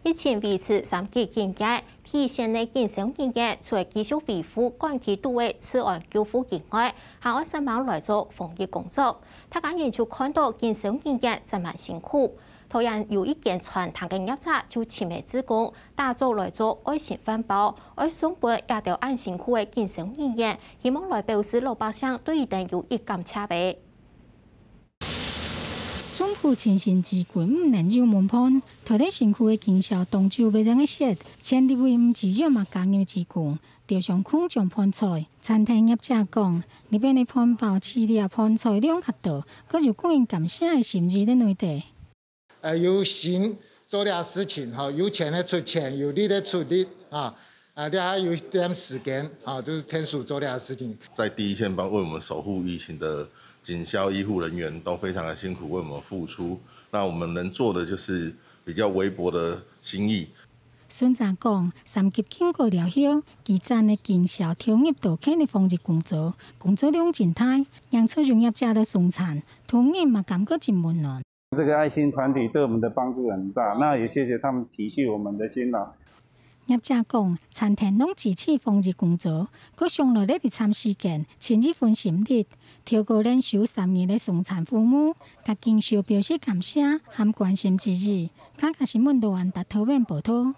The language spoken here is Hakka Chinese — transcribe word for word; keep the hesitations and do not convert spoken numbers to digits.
疫情維持三級警戒，第一線个警消人員除了繼續維護管區肚个治安救護以外，還愛煞猛來做防疫工作。大家人就看到警消人員真蠻辛苦。桃園有一間餐廳个業者就尋个志工，打早來做愛心飯包，愛送分這兜恁辛苦个警消人員，希望來表示老百姓對佢等有一感謝个。 總部盡心之君毋能有門伴，頭戴辛苦个警消當晝會正个雪，千里為毋只有嘛加入之工，就像空中飯菜。餐廳業者講，日本个飯包、飼料、飯菜量較多，閣有感恩感謝个心意在內底。呃，有心做這事情，哈，有錢个出錢，有力个出力，啊，啊，這還有一點時間，啊，就是天數做這事情。在第一線幫為我們守護疫情的警消醫護人員都非常的辛苦，為我們付出。那我們能做的就是比較微薄的心意。孫澤講，三級警戒了後，基層个警消投入到勤力防疫工作，工作量真大，讓出入業者都送餐，同仁嘛感覺真溫暖。這個愛心團體對我們的幫助很大，那也謝謝他們體恤我們的辛勞。 業者講，餐廳攏支持防疫工作，閣想到咧佇暫時間，盡一份心力，透過連續三日个送餐服務，佮警消表示感謝和關心之意。客家新聞羅安達桃園報導。